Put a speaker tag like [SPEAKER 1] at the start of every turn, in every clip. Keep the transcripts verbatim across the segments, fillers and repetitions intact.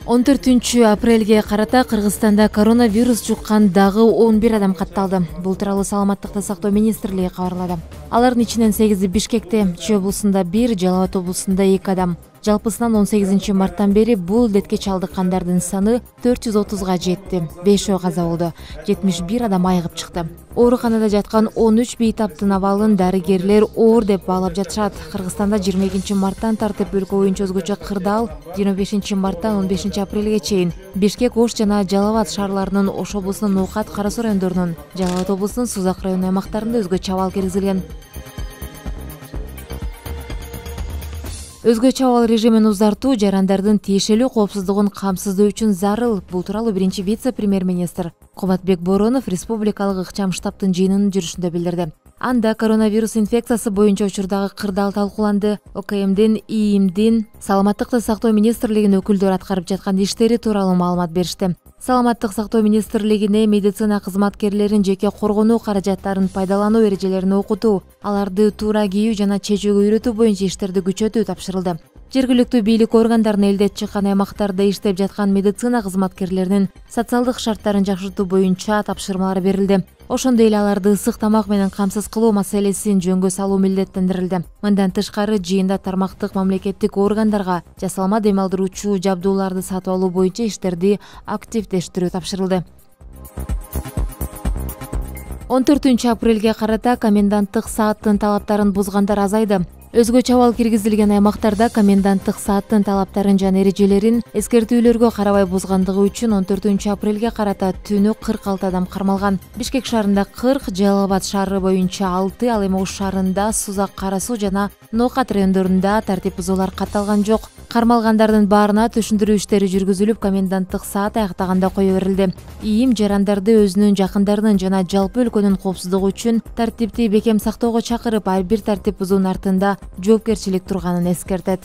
[SPEAKER 1] он төртүнчү апрелге карата Кыргызстанда коронавирус жуккан дагы он бир адам катталды. Бул тууралуу Саламаттыкты сактоо министрлиги кабарлады. Алардын ичинен сегизи Бишкекте, Чүй облусунда бир, Жалал Абад облусунда эки адам. Жалпысынан он сегизинчи марттан бери бул ildetке чалдыккандардын саны төрт жүз отузга жетти. бешөө каза болду. жетимиш бир адам айыгып чыкты. Ооруканада жаткан он үч бейтаптын абалын дарыгерлер оор деп баалап жатышат. Кыргызстанда жыйырма экинчи марттан тартип өлкө боюнча өзгөчө кырдаал, жыйырма бешинчи марттан он бешинчи апрелге чейин Бишкек, Ош жана Жалал Абад шаарларынын, Ош облусунун Ноокат, Кара Суу райондорунун, Жалал Абад облусунун Сузак районунун аймактарында өзгөчө абал киргизилген. Өзгөчө абал режимин узартуу жарандардын тиешелүү коопсуздугун камсыздоо үчүн зарыл. Бул тууралуу биринчи вице-премьер-министр Кубатбек Боронов республикалык ыкчам штабтын жыйынынын жүрүшүндө билдирди. Анда коронавирус инфекциясы боюнча учурдагы кырдаал талкууланды. ОКМдин, ИИМдин, Саламаттыкты сактоо министрлигинин өкүлдөрү аткарып жаткан иштери тууралуу маалымат беришти. Саламаттык сактоо министрлигине медицина кызматкерлерин жеке коргонуу каражаттарын пайдалануу эрежелерин окутуу, аларды туура кийүү жана чечүүгө үйрөтүү боюнча иштерди күчөтүү тапшырылды. Жергиликтүү бийлик органдарына ildет чыккан аймактарда иштеп жаткан медицина кызматкерлеринин социалдык шарттарын жакшыртуу боюнча тапшырмалар берилди. Ошондой эле аларды ысык тамак менен камсыз кылуу маселесин жөнгө салуу милдеттендирилди. Мындан тышкары жыйында тармактык мамлекеттик органдарга жасалма дем алдыруучу жабдууларды сатып алуу боюнча иштерди активдештирүү тапшырылды. он төртүнчү апрелге карата коменданттык сааттын талаптарын бузгандар азайды. Өзгөчө абал киргизилген аймактарда коменданттык сааттын талаптарын жана эрежелерин эскертүүлөргө карабай бузгандыгы үчүн он төртүнчү апрелге карата түнү кырк алты адам кармалган. Бишкек шаарында кырк, Жалал Абад шаары боюнча алты, ал эми Ош шаарында, Сузак, Кара Суу жана Ноокат райондорунда тартип бузуулар катталган жок. Кармалгандардын баарына түшүндүрүү иштери жүргүзүлүп, коменданттык саат аяктаганда кое берилди. ИИМ жарандарды өзүнүн жакындарынын жана жалпы өлкөнүн коопсуздугу үчүн тартипти бекем сактоого чакырып, ар бир тартип бузуунун артында жоопкерчилик турганын эскертет.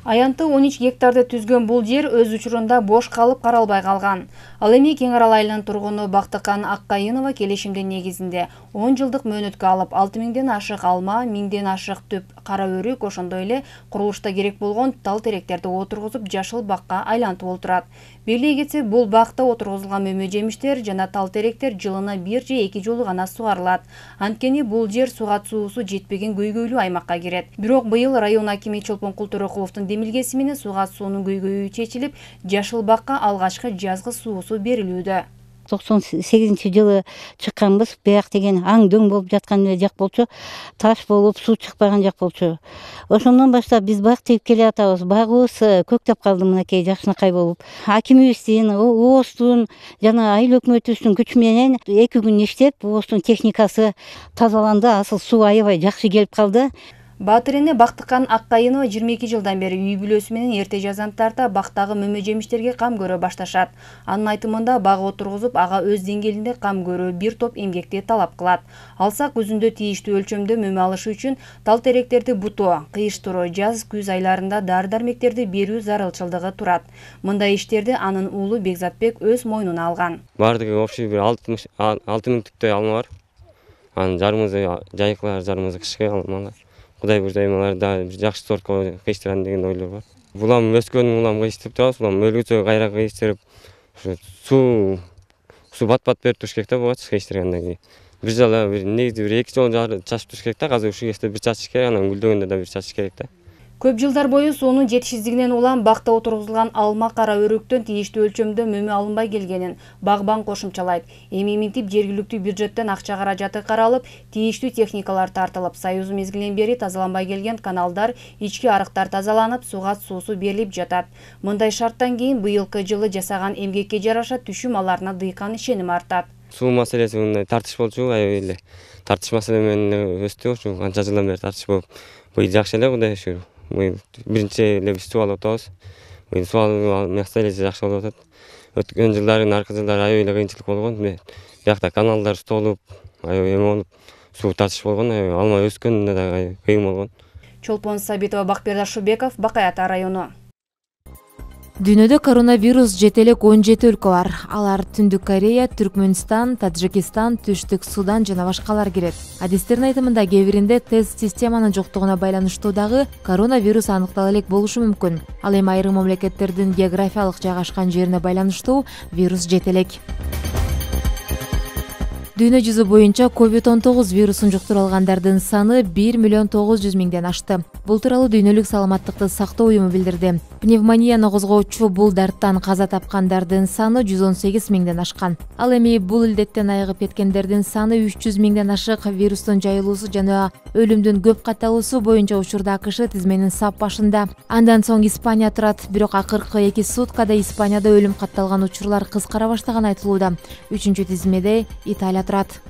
[SPEAKER 2] Аянты он үч гектарды түзгөн бул жер өз учурунда бош калып каралбай калган. Ал эми Кең Арал айылынын тургуну Бактыкан Аккайынова келишимдин негизинде он жылдык мөөнөткө алып, алты миңден ашык алма, миңден ашык түп кара өрүк, ошондой эле курулушта керек болгон тал теректерди отургузуп жашыл бакка айлантып отурат. Бийлей кетсек, бул бакта отургузулган мөмө жемиштер жана тал теректер жылына бир же эки жолу гана сугарылат. Анткени бул жер суга суусу жетпеген көйгөйлүү аймакка кирет. Бирок быйыл район акими Чолпон Културокуловдун демилгеси менен суга суунун көйгөйү чечилип, жашыл бакка алгачкы жазгы суусу берилүүдө.
[SPEAKER 3] токсон сегизинчи жылы чыкканбыз. Бияк деген аң дөң болуп жаткан жак болчу, таш болуп, суу чыкпаган жак болчу. Ошондон баштап биз бак тийип келе атабыз. Багыбыз көктөп калды мынакей жакшынакай болуп. Акимибиздин, ООСтун жана айыл өкмөтүбүздүн күчү менен эки күн иштеп, ООСтун техникасы тазаланды, асыл суу аябай жакшы келип калды.
[SPEAKER 2] Баатыр эне Бактыкан Аккайынова жыйырма эки жылдан бери үй бүлөсү менен эрте жазан тарта бактагы мөмө жемиштерге кам көрө башташат. Анын айтымында бак отургузуп, ага өз деңгээлинде кам көрүү бир топ эмгекти талап кылат. Алсак күзүндө тийиштүү өлчөмдө мөмө алышы үчүн тал теректерди бутоо, кыйыштыруу, жаз күз айларында дары-дармектерди берүү зарылчылдыгы турат. Мындай иштерди анын уулу Бекзатбек өз мойнуна алган.
[SPEAKER 4] Бардыгы общий бир алты миң түптөй алма бар. Анын жарымызы жайкылар, жарымызы кышкы алмалар. Кудай буйрса аларды жакшы сортко кыйыштырам деген ойлор бар. Булам өскөн улам кыйыштырып турабыз, улам өлгүчө кайра кыйыштырып, суу суу бат-бат берип туруш керек да буга кыйыштыргандан кийин. Бир жала бир негизи бир эки жолу чачып туруш керек да, азыр ушул кезде бир чачыш керек, анан гүлдөгөндө да бир чачыш керек да.
[SPEAKER 2] Көп жылдар бою суунун жетишсиздигинен улам бакта отургузулган алма, кара өрүктөн тийиштүү өлчөмдө мөмө алынбай келгенин багбан кошумчалайт. Эми минтип жергиликтүү бюджеттен акча каражаты каралып, тийиштүү техникалар тартылып, Союз мезгилинен бери тазаланбай келген каналдар, ички арыктар тазаланып, суга суусу берилип жатат. Мындай шарттан кийин быйылкы жылы жасаган эмгекке жараша түшүм аларына дыйкан ишеним артат.
[SPEAKER 4] Суу маселеси мындай тартыш болчу, аябай эле тартыш маселе менен өстү, ушу канча жылдан бери тартыш болуп, быйыл жакшы эле Кудай шүгүр. Биринчи эле биз суу алып атабыз. Быйыл суу алуу маселеси жакшы болуп атат. Өткөн жылдары, аркы жылдары аябай эле кыйынчылык болгон. Биякта каналдар столуп, аябай эме болуп, суу тартыш болгон, алма өскөндө да кыйын болгон.
[SPEAKER 2] Чолпон Сабитова, Бакбердар Шубеков, Бакай Ата району.
[SPEAKER 1] Дүйнөдө коронавирус жетелек он жети өлкө бар. Алар Түндүк Корея, Түркмөнстан, Таджикистан, Түштүк Судан жана башкалар кирет. Адистердин айтымында кээ биринде тест системанын жоктугуна байланыштуу дагы коронавирус аныктала элек болушу мүмкүн. Ал эми айрым мамлекеттердин географиялык жайгашкан жерине байланыштуу вирус жетелек. Дүйнө жүзү боюнча ковид он тогуз вирусун жуктуруп алгандардын саны бир миллион тогуз жүз миңден ашты. Бул тууралуу Дүйнөлүк саламаттыкты сактоо уюму билдирди. Пневмонияны козгоочу бул дарттан каза тапкандардын саны жүз он сегиз миңден ашкан. Ал эми бул илдеттен айыгып кеткендердин саны үч жүз миңден ашык. Вирустун жайылуусу жана өлүмдүн көп катталуусу боюнча учурда АКШ тизменин сап башында. Андан соң Испания турат, бирок акыркы эки суткада Испанияда өлүм катталган учурлар кыскара баштаганы айтылууда. Үчүнчү тизмеде Италия турат.